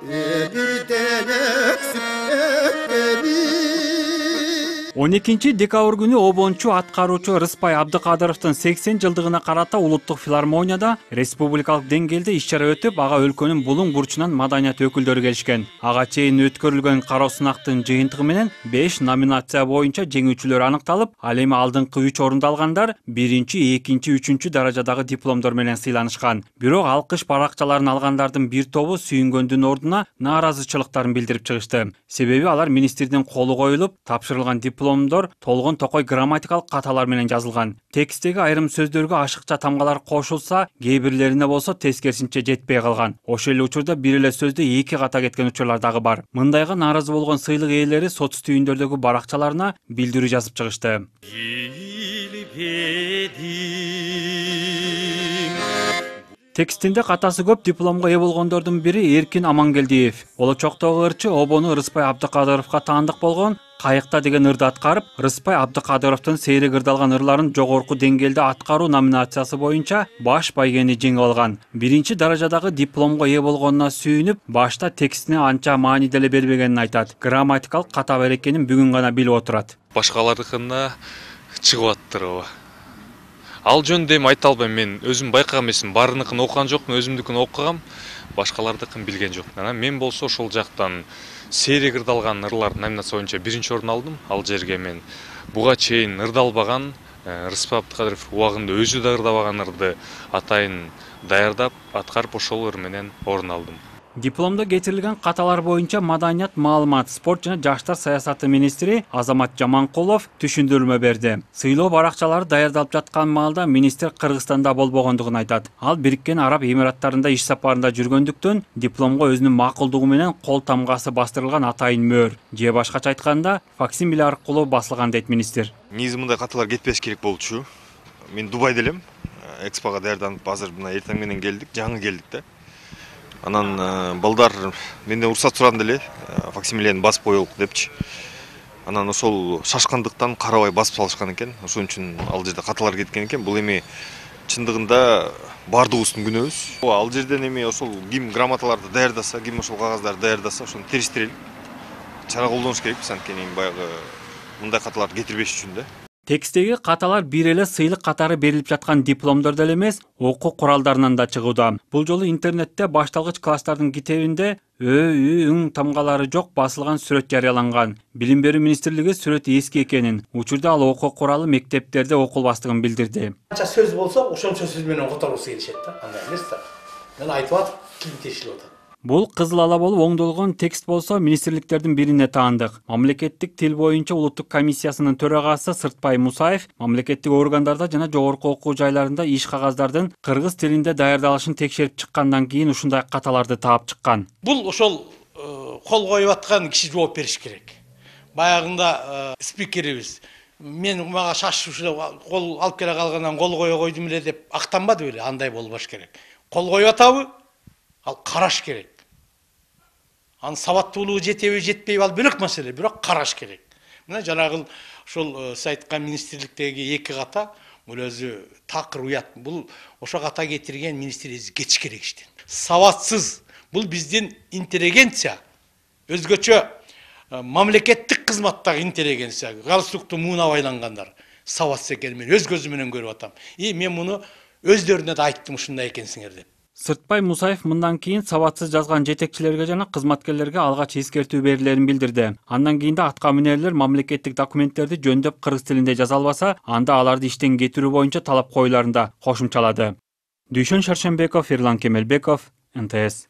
Birden öksüp öpteni. 12 декабрь күнү обончу аткаруучу Рыспай Абдыкадыровдун 80 жылдыгына карата улуттук филармонияда республикалык деңгээлде иш-чара өтүп, ага өлкөнүн булуң бурчунан маданият өкүлдөрү келишкен. Ага чейин өткөрүлгөн кароо сынактын жыйынтыгы менен 5 номинация боюнча жеңүүчүлөр аныкталып, ал эми алдыңкы 3 орунду алгандар 1-2, 3 даражадагы дипломдор менен сыйланышкан. Бирок алкыш баракчаларын алгандардын бир тобу сүйүнгөндүн ордуна нааразычылыктарын билдирип чыгышты. Себеби алар министрдин колу коюлуп, тапшырылган дипломдор толгон токой грамматикалык каталар менен жазылган. Текстеги айрым сөздөргө ашыкча тамгалар кошулса, кээ бирлерине болсо тескерисинче жетпей калган. Ошол эле учурда бир эле сөздө 2 ката кеткен учурлар дагы бар. Мындайга нааразы болгон сыйлык ээлери соц түйүндөрдөгү баракчаларына билдирүү жазып чыгышты. Текстинде катасы көп дипломго ээ болгондордун бири Эркин Амангелдиев. Болочоктогу ырчы обону Рыспай Абдыкадыровго таандык болгон «Кайыкта» деген ырды аткарып, Рыспай Абдыкадыровдун сейрек ырдалган ырларын жогорку деңгээлде аткаруу номинациясы боюнча баш байгени жеңип алган. 1 даражадагы дипломго ээ болгонуна сүйүнүп, башта текстине анча маани деле бербегенин айтат. Грамматикалык ката бар экенин бүгүн гана билип отурат. Башкалардыкына чыгып аттыр. Ал жөнүндө эми айта албайм, мен өзүм байкаган эмесмин, баарыныкын окуган жокмун, өзүмдүкүн окугам, башкалардыкын билген жокмун. Анан мен болсо ошол жактан сейрек ырдалган ырлар номинация боюнча 1 орун алдым. Ал жерге мен буга чейин ырдалбаган, Рыспай Абдыкадыров убагында өзү да ырдабаган ырды атайын даярдап, аткарып ошол ыр менен орун алдым. Дипломдо кетирилген каталар боюнча маданият, маалымат, спорт жана жаштар саясаты министри Азамат Жаманкулов түшүндүрмө берди. Сыйлоо баракчалары даярдалып жаткан маалда министр Кыргызстанда болбогондугун айтат. Ал Бириккен Араб Эмираттарында иш сапарында жүргөндүктөн дипломго өзүнүн макулдугу менен кол тамгасы бастырылган атайын мөөр же башкача айтканда факсимиле аркылуу басылган дейт министр. Негизи мындай каталар кетпеш керек болчу. Мен Дубайда элем, экспого даярданып азыр мына эртең менен келдик, жаңы келдик да. Анан балдар менден уруксат сурады эле, факсимилени басып коелук депчи. Анан ошол шашкандыктан карабай басып салышкан экен. Ошон үчүн ал жерде каталар кеткен экен. Бул эми чындыгында бардыгыбыздын күнөөбүз. Ал жерден эми ошол ким грамоталарды даярдаса, ким ошол кагаздарды даярдаса, ошону териштирели. Чара колдонуш керекпиз, анткени баягы мындай каталарды кетирбеш үчүн да. Текстеги каталар бир эле сыйлык катары берилип жаткан дипломдор деле эмес, окуу куралдарынан да чыгууда. Бул жолу интернетте башталгыч класстардын китебинде ың тамгалары жок басылган сүрөт жарыяланган. Билим берүү министрлиги сүрөт эски экенин, учурда ал окуу куралы мектептерде окулбастыгын билдирди. Канча сөз болсо, ошончо сөз менен которгусу келишет да. Андай эмес да. Мен айтып атып, ким тешилип атат. Бул кызыл ала болуп оңдолгон текст болсо министрликтердин бирине таандык. Мамлекеттик тил боюнча улуттук комиссиясынын төрагасы Сыртпай Мусаев мамлекеттик органдарда жана жогорку окуу жайларында иш кагаздардын кыргыз тилинде даярдалышын текшерип чыккандан кийин ушундай каталарды таап чыккан. Бул ошол кол коюп аткан киши жооп бериш керек. Баягында спикерибиз мен мага шашып кол алып келе калгандан кол кое койдум эле деп актанбады беле, андай болбош керек. Кол коюп атабы? Ал караш керек. Анын сабаттуулугу жетеби, жетпейби ал бөлөк маселе, бирок караш керек. Мына жанагы ошол сиз айткан министрликтеги 2 ката бул өзү такыр уят. Бул ошо ката кетирген министрибиз кетиш керек иштен. Сабатсыз, бул биздин интеллигенция, өзгөчө мамлекеттик кызматтагы интеллигенция, галстукту муына байлангандар сабатсыз экенин мен өз көзүм менен көрүп атам. Мен муну өздөрүнө да айттым ушундай экенсиңер деп. Сыртпай Мусаев мындан кийин сабатсыз жазган жетекчилерге жана кызматкерлерге алгач эскертүү берилерин билдирди. Андан кийин да атка минерлер мамлекеттик документтерди жөндөп кыргыз тилинде жаза албаса, анда аларды иштен кетирүү боюнча талап коюларын да кошумчалады. Дүйшөн Шаршенбеков, Ерлан Кемелбеков, НТС.